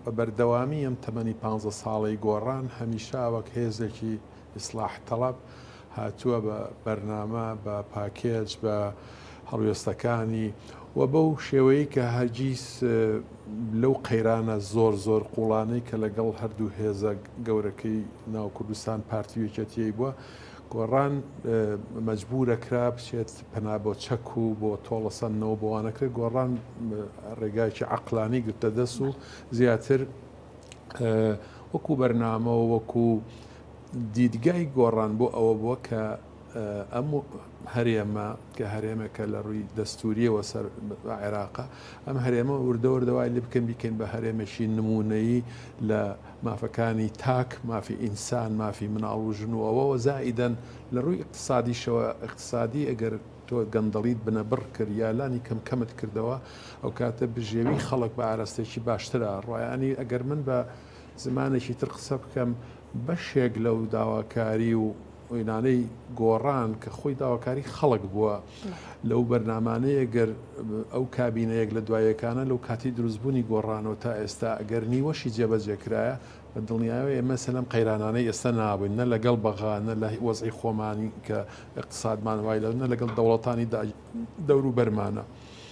بە بەردەوامی ئەم تەمەنی 15 ساڵەی گۆڕان هەمیشە وەک هێزێکی ئیسلاح تەڵەب هاتووە بە بەرنامە، بە پاکێج، بە هەڵوێستەکانی و بەو شێوەیەی کە هەرگیز لەو قەیرانە زۆر زۆر قوڵانەی کە لەگەڵ هەردوو هێزە گەورەکەی ناو کوردستان پارتی و یەکێتیی بووە، گۆڕان مەجبورە کرا بچێت پەنا بۆ چەک و بۆ تۆڵەسەندنەوە بۆ وانە کرێت، گۆڕان ڕێگایەکی عەقڵانی گرتە دەست و زیاتر وەکو بەرنامە و وەکو دیدگای گۆڕان بۆ ئەوە بووە کە ئەم هەرێمە کە هەرێمێکە لە ڕووی دەستوریەوە سەر بە عێراقە، ئەم هەرێمە وردە وردە وای لێ بکەین بیکەین بە هەرێمێکی نموونەیی لە مافەکانی تاک، مافی ئینسان، مافی مناڵ و ژن و ئەوەوە، زائیدەن لە ڕووی ئیقتسادیشەوە، ئیقتسادی ئەگەر تۆ گەندەڵیت بنەبڕ کرد یا لانی کەم کەمت کردەوە، ئەوکاتە بژێوی خەڵک بە ئاراستەیەکی باشترا ڕوا. یانی ئەگەر من بە زمانێکی تر قسە بکەم، بەشێک لەو داواکاری و ئینانەی گۆڕان کە خۆی داواکاری خەڵک بووە لەو بەرنامانەیە گەر ئەو کابینەیەک لە دوایەکانە لەو کاتی دروستبوونی گۆڕانەوە تا ئێستا ئەگەر نیوەشی جێبەجێ کرایە بە دڵنیایەوە ئێمە لەم قەیرانانەی ئێستا نابووین، نە لەگەڵ بەغا، نە لە وەزعی خۆمانی کە ئیقتسادمان وای لە، نە لەگەڵ دەوڵەتانی دەوروبەرمانە.